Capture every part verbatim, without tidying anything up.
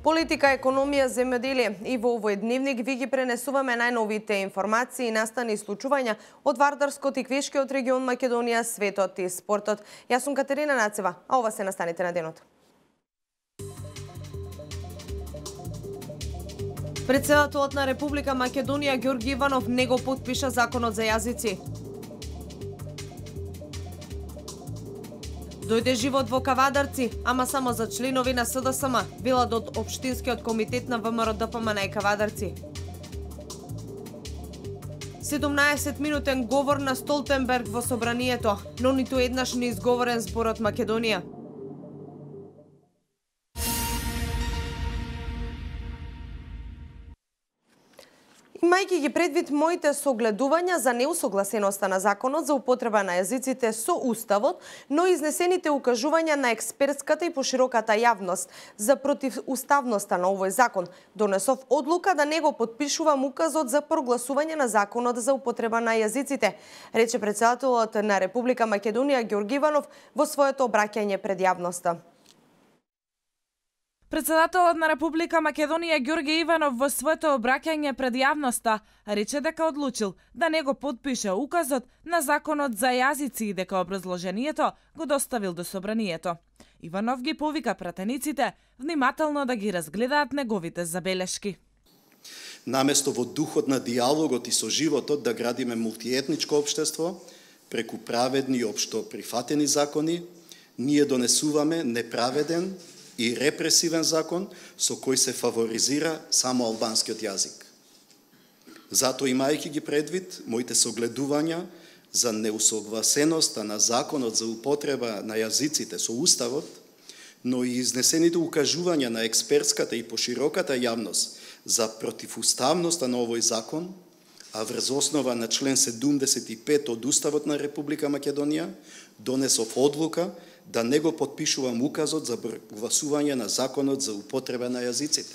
Политика, економија, земјоделие и во овој дневник ви ги пренесуваме најновите информации и настани случувања од Вардарскот и Квешкиот регион Македонија, светот и спортот. Јас сум Катерина Нацева, а ова се настаните на денот. Претседателот на Република Македонија Ѓорги Иванов не го потпиша законот за јазици. Дојде живот во Кавадарци, ама само за членови на С Д С М, велат од Општинскиот комитет на В М Р Д П М Н и Кавадарци. седумнаесет минутен говор на Столтенберг во собранието, но ниту еднаш не изговорен зборот Македонија. Имајќи ги предвид моите согледувања за неусогласеноста на законот за употреба на јазиците со Уставот, но изнесените укажувања на експертската и пошироката јавност за противуставноста на овој закон, донесов одлука да не го потпишувам указот за прогласување на законот за употреба на јазиците, рече претседателот на Република Македонија Ѓорги Иванов во своето обраќање пред јавноста. Претседателот на Република Македонија Ѓорги Иванов во своето обраќање пред јавноста рече дека одлучил да не го потпише указот на законот за јазици и дека образложението го доставил до собранието. Иванов ги повика пратениците внимателно да ги разгледаат неговите забелешки. Наместо во духот на диалогот и со животот да градиме мултиетничко општество, преку праведни и општо прифатени закони, ние донесуваме неправеден и репресивен закон со кој се фаворизира само албанскиот јазик. Затоа, имајќи ги предвид моите согледувања за неусогласеноста на законот за употреба на јазиците со Уставот, но и изнесените укажувања на експертската и пошироката јавност за противуставноста на овој закон, а врз основа на член седумдесет и пет од Уставот на Република Македонија, донесов одлука да не го потпишувам указот за прогласување на законот за употреба на јазиците.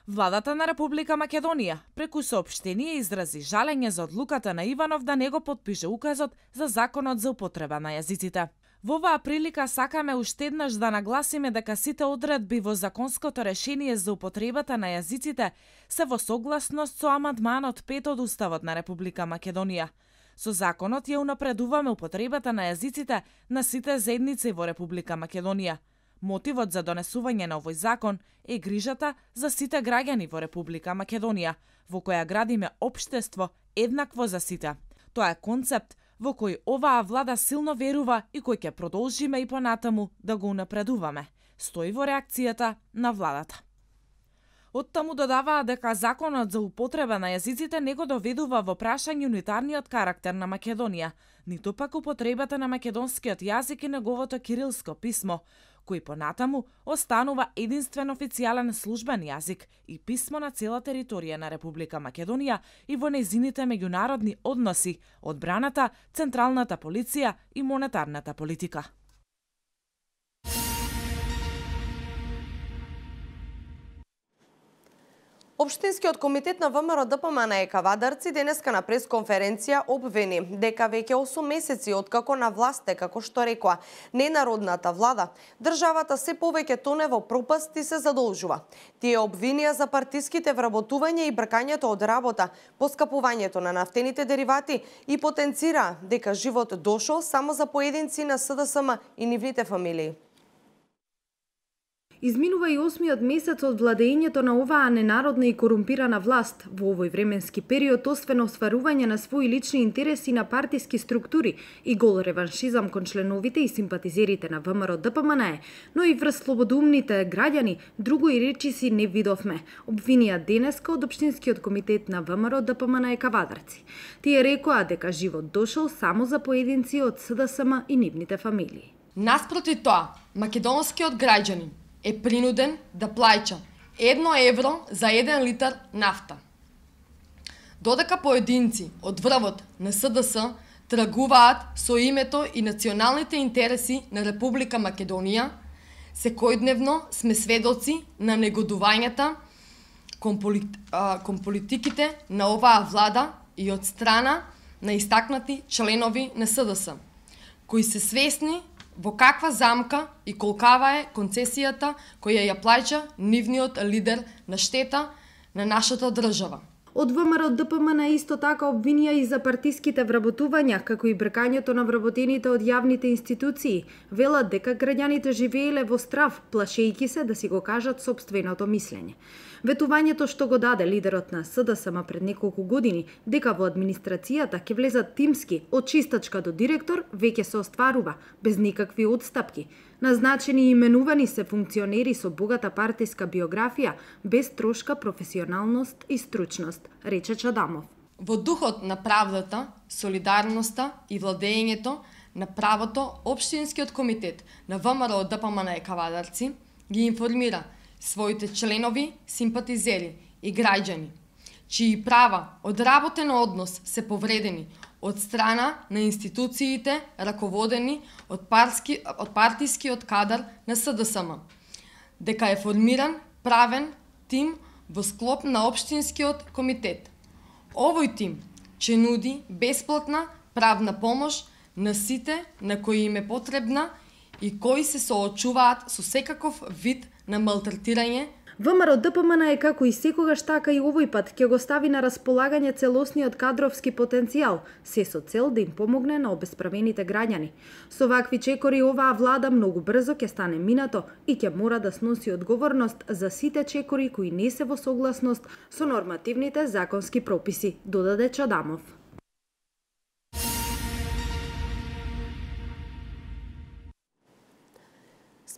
Владата на Република Македонија преку соопштение изрази жалење за одлуката на Иванов да не го потпише указот за законот за употреба на јазиците. Во оваа прилика сакаме уште еднаш да нагласиме дека сите одредби во законското решение за употребата на јазиците се во согласност со амандманот пет од Уставот на Република Македонија. Со законот ја унапредуваме употребата на јазиците на сите заедници во Република Македонија. Мотивот за донесување на овој закон е грижата за сите граѓани во Република Македонија, во која градиме општество еднакво за сите. Тоа е концепт во кој оваа влада силно верува и кој ќе продолжиме и понатаму да го унапредуваме, стои во реакцијата на владата. Оттаму додаваа дека законот за употреба на јазиците не го доведува во прашање унитарниот карактер на Македонија, ниту пак употребата на македонскиот јазик и неговото кирилско писмо, кој понатаму останува единствен официјален службен јазик и писмо на цела територија на Република Македонија и во нејзините меѓународни односи, одбраната, централната полиција и монетарната политика. Општинскиот комитет на В М Р Д П М Н и Кавадарци денеска на пресконференција обвини дека веќе осум месеци откако на власт е, како што рекоа, ненародната влада, државата се повеќе тоне во пропаст и се задолжува. Тие обвинија за партиските вработување и бркањето од работа, поскапувањето на нафтените деривати и потенцира дека живот дошол само за поединци на С Д С М и нивните фамилии. Изминува и осмиот месец од владењето на оваа ненародна и корумпирана власт. Во овој временски период, освен остварување на своји лични интереси на партиски структури и гол реваншизам кон членовите и симпатизерите на В М Р Д П М Н е, но и врз слободумните граѓани, друго и речиси не видовме, обвинија денеска од Општинскиот комитет на В М Р Д П М Н и Кавадарци. Тие рекоа дека живот дошол само за поединци од С Д С М и нивните фамилии. Наспроти тоа, македонскиот граѓанин е принуден да плаќа едно евро за еден литар нафта. Додека поединци од врвот на С Д С тргуваат со името и националните интереси на Република Македонија, секојдневно сме сведоци на негодувањата кон, полит... кон политиките на оваа влада и од страна на истакнати членови на С Д С, кои се свесни во каква замка и колкава е концесијата која ја плаќа нивниот лидер на штета на нашата држава. Од ВМРО Д П М Н исто така обвинија и за партиските вработувања, како и бркањето на вработените од јавните институции. Велат дека граѓаните живееле во страв, плашејќи се да си го кажат сопственото мислење. Ветувањето што го даде лидерот на С Д С М пред неколку години, дека во администрацијата ќе влезат тимски од чистачка до директор, веќе се остварува, без никакви одстапки. Назначени и именувани се функционери со богата партиска биографија, без трошка професионалност и стручност, рече Чадамов. Во духот на правдата, солидарноста и владењето на правото, Општинскиот комитет на ВМРО Д П М Н Кавадарци ги информира своите членови, симпатизери и граѓани, чии права од работен однос се повредени од страна на институциите раководени од, парски, од партискиот кадар на С Д С М, дека е формиран правен тим во склоп на Општинскиот комитет. Овој тим ќе нуди бесплатна правна помош на сите на кои им е потребна и кои се соочуваат со секаков вид на малтретирање. ВМРО Д П М Н е како и секогаш така и овој пат ќе го стави на располагање целосниот кадровски потенцијал, се со цел да им помогне на обесправените граѓани. Со вакви чекори оваа влада многу брзо ќе стане минато и ќе мора да сноси одговорност за сите чекори кои не се во согласност со нормативните законски прописи, додаде Чадамов.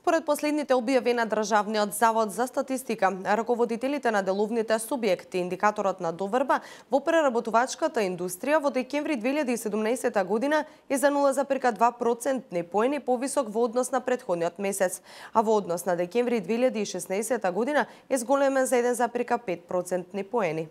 Според последните објави на Државниот завод за статистика, раководителите на деловните субјекти, индикаторот на доверба во преработувачката индустрија во декември две илјади и седумнаесета година е за нула запирка два процентни поени повисок во однос на претходниот месец, а во однос на декември две илјади и шеснаесета година е зголемен за еден запирка пет процентни поени.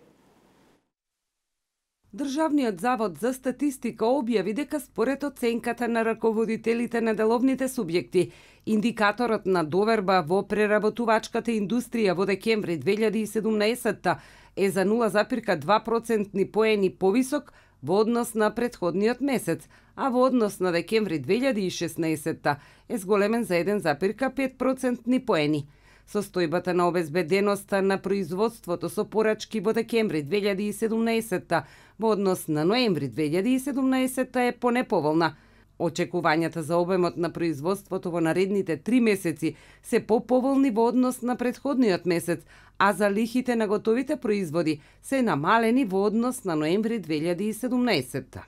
Државниот завод за статистика објави дека според оценката на раководителите на деловните субјекти, индикаторот на доверба во преработувачката индустрија во декември две илјади и седумнаесета е за нула запирка два процентни поени повисок во однос на претходниот месец, а во однос на декември две илјади и шеснаесета е зголемен за еден запирка пет процентни поени. Состојбата на обезбеденоста на производството со порачки во декември две илјади и седумнаесета во однос на ноември две илјади и седумнаесета е понеповолна. Очекувањата за обемот на производството во наредните три месеци се поповолни во однос на претходниот месец, а за лихите на готовите производи се намалени во однос на ноември две илјади и седумнаесета.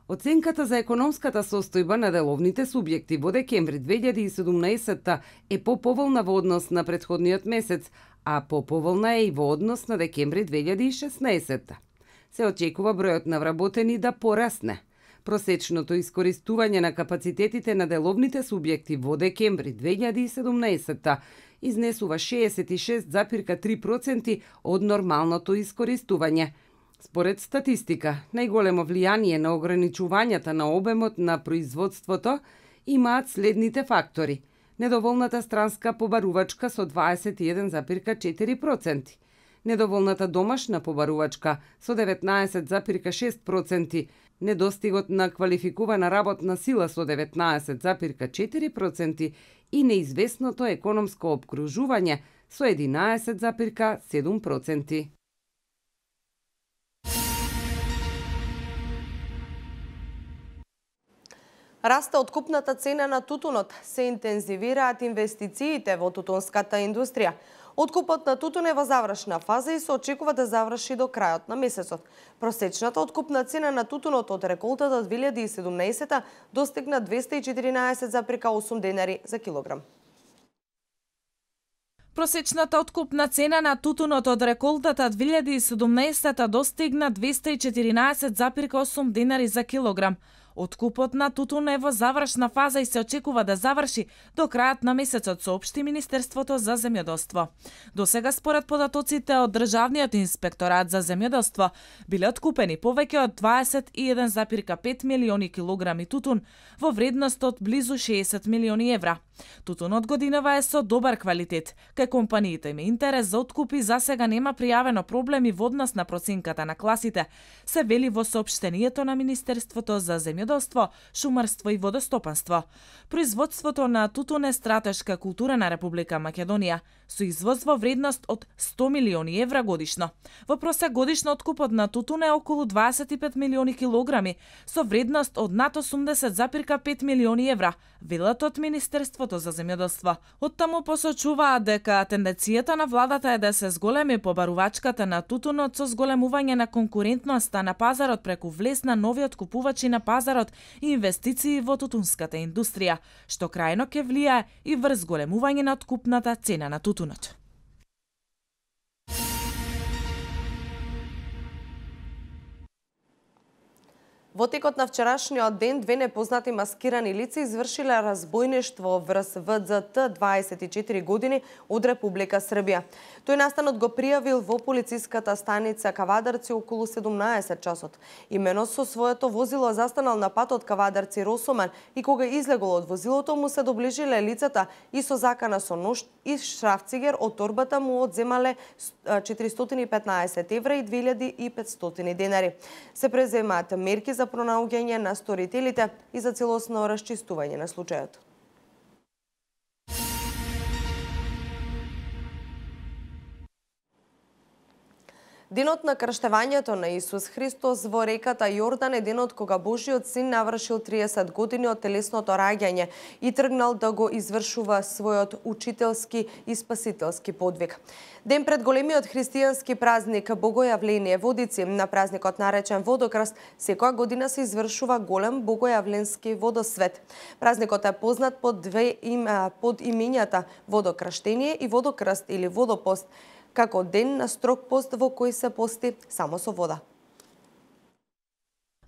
Оценката за економската состојба на деловните субјекти во декември две илјади и седумнаесета е поповолна во однос на претходниот месец, а поповолна е и во однос на декември две илјади и шеснаесета. Се очекува бројот на вработени да порасне. Просечното искористување на капацитетите на деловните субјекти во декември две илјади и седумнаесета изнесува шеесет и шест запирка три проценти од нормалното искористување. Според статистика, најголемо влијание на ограничувањата на обемот на производството имаат следните фактори. Недоволната странска побарувачка со дваесет и еден запирка четири проценти, недоволната домашна побарувачка со деветнаесет запирка шест проценти, недостигот на квалификувана работна сила со деветнаесет запирка четири проценти и неизвестното економско обкружување со единаесет запирка седум проценти. Расте откупната цена на тутунот, се интензивираат инвестициите во тутунската индустрија. Откупот на тутун е во завршна фаза и се очекува да заврши до крајот на месецот. Просечната откупна цена на тутунот од реколтата две илјади и седумнаесета достигна двесте и четиринаесет запирка осум денари за килограм. Просечната откупна цена на тутунот од реколтата две илјади и седумнаесета достигна двесте и четиринаесет запирка осум денари за килограм. Откупот на тутун е во завршна фаза и се очекува да заврши до крајот на месецот, соопшти Министерството за земјоделство. Досега според податоците од Државниот инспекторат за земјоделство биле откупени повеќе од дваесет и еден запирка пет милиони килограми тутун во вредност од близу шеесет милиони евра. Тутунот годинава е со добар квалитет. Кај компаниите има интерес за откупи, за сега нема пријавено проблеми во однос на проценката на класите, се вели во соопштението на Министерството за земјоделство, шумарство и водостопанство. Производството на тутун е стратешка култура на Република Македонија, со извоз во вредност од сто милиони евра годишно. Во просек годишно откупот на тутун е околу дваесет и пет милиони килограми, со вредност од над осумдесет запирка пет милиони евра, велат од Министерството за земјоделство. Оттаму посочуваат дека тенденцијата на владата е да се зголеми побарувачката на тутунот со зголемување на конкурентноста на пазарот преку влез на нови откупувачи на пазарот и инвестиции во тутунската индустрија, што крајно ќе влијае и врз зголемување на откупната цена на тутунот. Во текот на вчерашниот ден, две непознати маскирани лица извршиле разбојништво врз В Д Т, дваесет и четири години, од Република Србија. Тој настанот го пријавил во полициската станица Кавадарци околу седумнаесет часот. Имено со своето возило застанал на патот Кавадарци Росоман и кога излегол од возилото му се доближиле лицата и со закана со нож и шрафцигер од торбата му одземале четиристотини и петнаесет евра и две илјади и петстотини денари. Се преземаат мерки за пронаоѓање на сторителите и за целосно расчистување на случајот. Денот на крштевањето на Исус Христос во реката Јордан е денот кога Божиот син навршил триесет години од телесното раѓање и тргнал да го извршува својот учителски и спасителски подвиг. Ден пред големиот христијански празник Богојавление Водици, на празникот наречен Водокрст, секоја година се извршува голем богојавленски водосвет. Празникот е познат под две име, под имењата Водокрштение и Водокрст или Водопост, како ден на строг пост во кој се пости само со вода.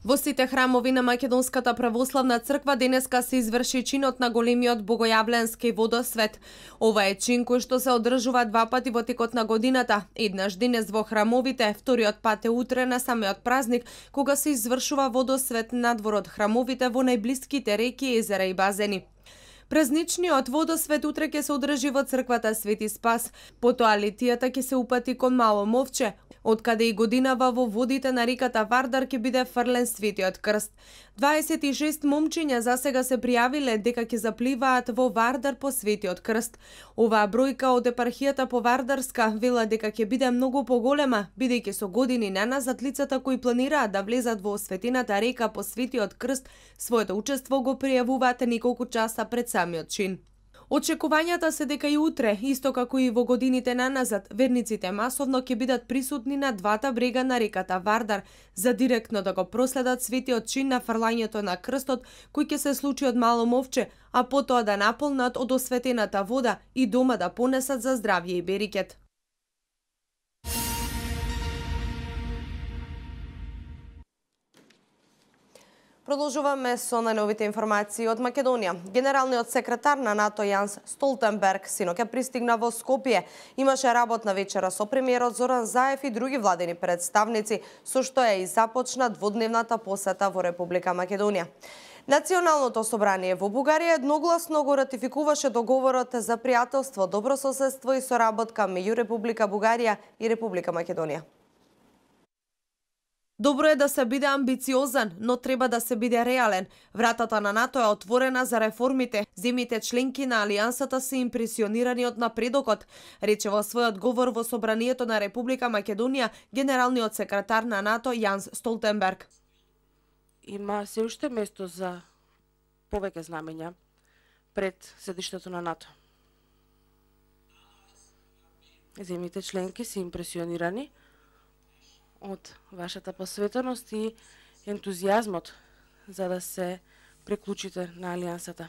Во сите храмови на Македонската православна црква денеска се изврши чинот на големиот богојавленски водосвет. Ова е чин кој што се одржува два пати во текот на годината. Еднаш денес во храмовите, вториот пат е утре на самиот празник, кога се извршува водосвет надвор од храмовите во најблиските реки, езера и базени. Празничниот водосвет утре ќе се одржи во црквата Свети Спас. Потоа летијата ќе се упати кон Мало Мовче, откаде и годинава во водите на реката Вардар ќе биде фрлен Светиот крст. дваесет и шест момчиња засега се пријавиле дека ќе запливаат во Вардар по Светиот крст. Оваа бројка од епархијата по Вардарска вела дека ќе биде многу поголема, бидејќи со години наназад лицата кои планираат да влезат во осветената река по Светиот крст, своето учество го пријавуваат неколку часа пред самиот чин. Очекувањата се дека и утре, исто како и во годините наназад, верниците масовно ќе бидат присутни на двата брега на реката Вардар за директно да го проследат светиот чин на фрлањето на крстот кој ќе се случи од Мало Мовче, а потоа да наполнат од осветената вода и дома да понесат за здравје и берекет. Продолжуваме со најновите информации од Македонија. Генералниот секретар на НАТО Јанс Столтенберг синоќа пристигна во Скопје. Имаше работна вечера со премиерот Зоран Заев и други владени представници, со што е и започна дводневната посета во Република Македонија. Националното собрание во Бугарија едногласно го ратификуваше договорот за пријателство, добрососедство и соработка меѓу Република Бугарија и Република Македонија. Добро е да се биде амбициозен, но треба да се биде реален. Вратата на НАТО е отворена за реформите. Земјите членки на Алијансата се импресионирани од напредокот, рече во својот говор во Собранието на Република Македонија генералниот секретар на НАТО Јанс Столтенберг. Има се уште место за повеќе знамења пред седиштето на НАТО. Земјите членки се импресионирани од вашата посветеност и ентузијазмот за да се приклучите на Алијансата.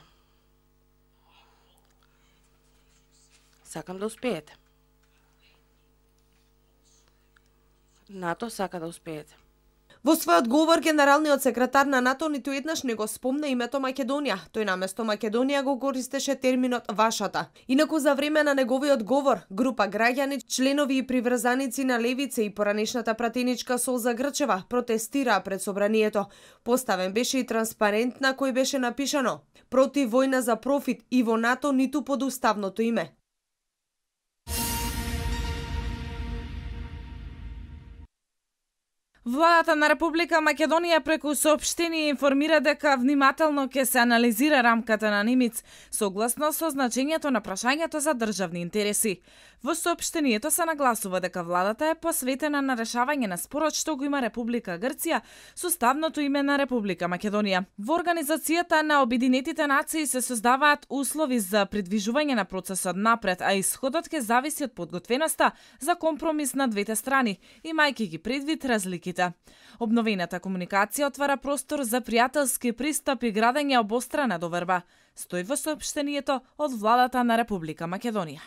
Сакам да успеете. НАТО сака да успеете. Во својот говор, генералниот секретар на НАТО ниту еднаш не го спомна името Македонија. Тој наместо Македонија го користеше терминот вашата. Инаку за време на неговиот говор, група граѓани, членови и приврзаници на левица и поранешната пратеничка Солза Грчева протестираа пред собранието. Поставен беше и транспарент на кој беше напишано: "Против војна за профит и во НАТО ниту под уставното име." Владата на Република Македонија преку соопштение информира дека внимателно ќе се анализира рамката на Нимиц согласно со значењето на прашањето за државни интереси. Во соопштението се нагласува дека владата е посветена на решавање на спорот што го има Република Грција со ставното име на Република Македонија. Во Организацијата на Обединетите нации се создаваат услови за придвижување на процесот напред, а исходот ќе зависи од подготвеноста за компромис на двете страни, имајќи ги предвид разлики. Обновената комуникација отвара простор за пријателски пристап и градење обострана доверба, стои во соопштението од владата на Република Македонија.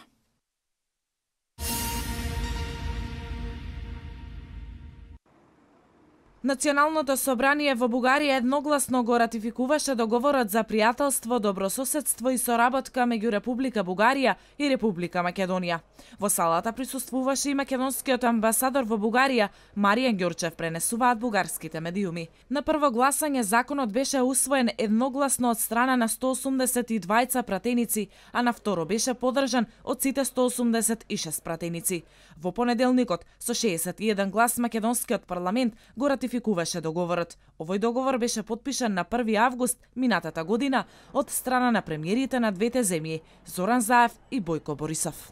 Националното собрание во Бугарија едногласно го ратификуваше договорот за пријателство, добрососедство и соработка меѓу Република Бугарија и Република Македонија. Во салата присуствуваше и македонскиот амбасадор во Бугарија Маријан Ѓорчев, пренесуваат бугарските медиуми. На прво гласање законот беше усвоен едногласно од страна на сто осумдесет и двајца пратеници, а на второ беше поддржан од сите сто осумдесет и шест пратеници. Во понеделникот со шеесет и еден глас македонскиот парламент го ратификуваше договорот. Овој договор беше потпишан на први август минатата година од страна на премиерите на двете земји Зоран Заев и Бојко Борисов.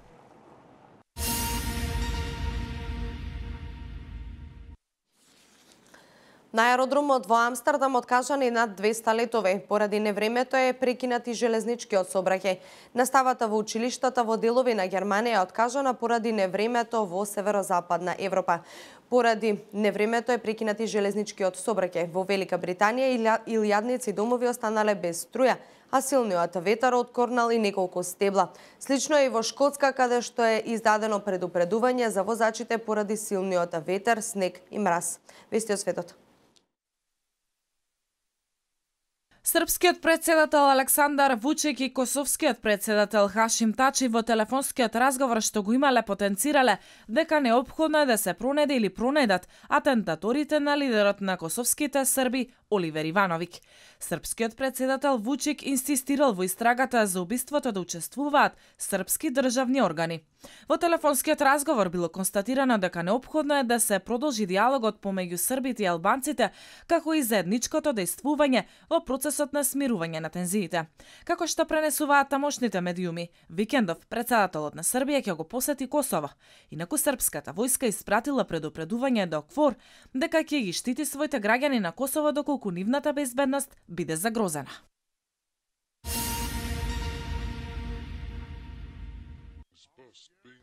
На аеродромот во Амстердам откажани над двеста летови. Поради невремето е прекинати железничкиот сообраќај. Наставата во училиштата во делови на Германија е откажана поради невремето во северозападна Европа. Поради невремето е прекинати железничкиот сообраќај. Во Велика Британија илјадници домови останале без струја, а силниот ветар откорнал и неколку стебла. Слично е и во Шкотска, каде што е издадено предупредување за возачите поради силниот ветер, снег и мраз. Вести од светот. Српскиот председател Александар Вучик и косовскиот председател Хашим Тачи во телефонскиот разговор што го имале потенцирале дека неопходно е да се пронеде или пронедат атентаторите на лидерот на косовските срби Оливер Ивановиќ. Српскиот председател Вучик инсистирал во истрагата за убиството да учествуваат српски државни органи. Во телефонскиот разговор било констатирано дека неопходно е да се продолжи диалогот помеѓу србите и албанците, како и заедничкото действување во процесот на смирување на тензиите. Како што пренесуваат тамошните медиуми, викендов председателот на Србија ќе го посети Косово. Инаку српската војска испратила предупредување до КФОР дека ќе ги штити своите граѓани на Косово доколку нивната безбедност биде загрозена.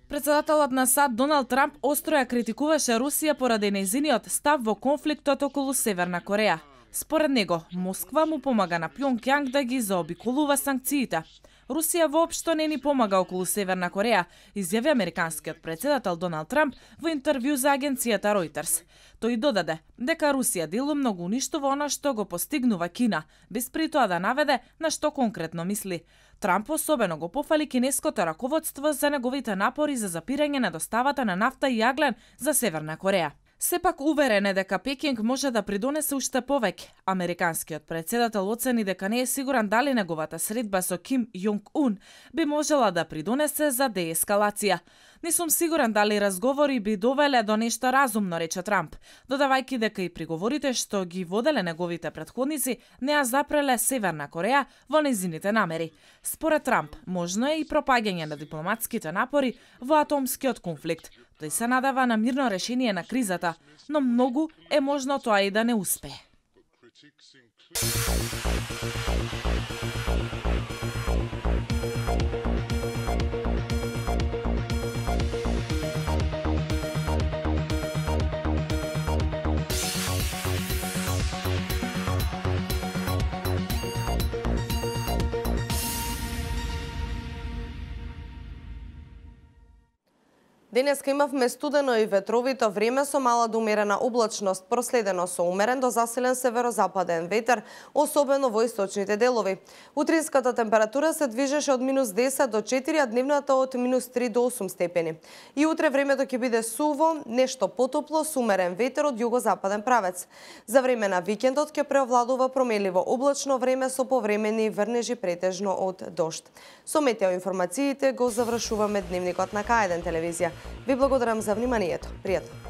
Председателот на САД Доналд Трамп остро ја критикуваше Русија поради нејзиниот став во конфликтот околу Северна Кореја. Според него, Москва му помага на Пјонкјанг да ги заобиколува санкциите. Русија воопшто не ни помага околу Северна Кореја, изјави американскиот председател Доналд Трамп во интервју за агенцијата Reuters. Тој додаде дека Русија делумно го уништува она што го постигнува Кина, без при тоа да наведе на што конкретно мисли. Трамп особено го пофали кинеското раководство за неговите напори за запирање на доставата на нафта и јаглен за Северна Кореја. Сепак уверен е дека Пекинг може да придонесе уште повеќе. Американскиот председател оцени дека не е сигурен дали неговата средба со Ким Јонг Ун би можела да придонесе за деескалација. Не сум сигурен дали разговори би довеле до нешто разумно, рече Трамп, додавајќи дека и приговорите што ги воделе неговите претходници не ја запреле Северна Кореја во нејзините намери. Според Трамп, можно е и пропаѓање на дипломатските напори во атомскиот конфликт. Тој се надава на мирно решение на кризата, но многу е можно тоа и да не успее. Денеска имавме студено и ветровито време со мала до умерена облачност, проследено со умерен до засилен северозападен ветер, особено во источните делови. Утринската температура се движеше од минус десет до четири, а дневната од минус три до осум степени. И утре времето ќе биде суво, нешто потопло, со умерен ветер од југозападен правец. За време на викендот ќе преовладува променливо облачно време со повремени врнежи претежно од дожд. Со метеоинформациите го завршуваме дневникот на К еден телевизија. Ви благодарам за вниманието. Пријатно.